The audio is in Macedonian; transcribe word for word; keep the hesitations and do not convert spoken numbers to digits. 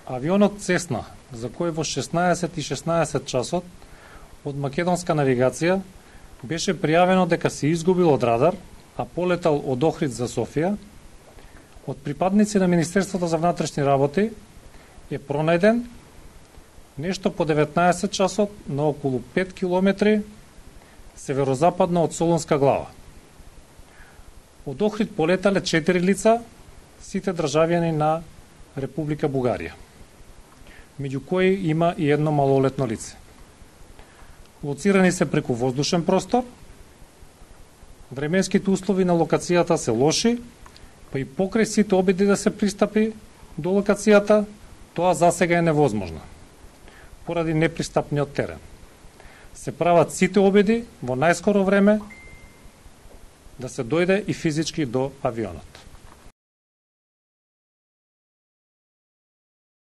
Авионот Цесна, за кој во шеснаесет и шеснаесет часот од македонска навигација беше пријавено дека се изгубил од радар, а полетал од Охрид за Софија, од припадници на Министерството за внатрешни работи е пронајден нешто по деветнаесет часот на околу пет километри северозападно од Солунска глава. Од Охрид полетале четири лица, сите државјани на Република Бугарија, меѓу кои има и едно малолетно лице. Лоцирани се преку воздушен простор, временските услови на локацијата се лоши, па и покрај сите обиди да се пристапи до локацијата, тоа засега е невозможно, поради непристапниот терен. Се прават сите обиди во најскоро време да се дојде и физички до авионот.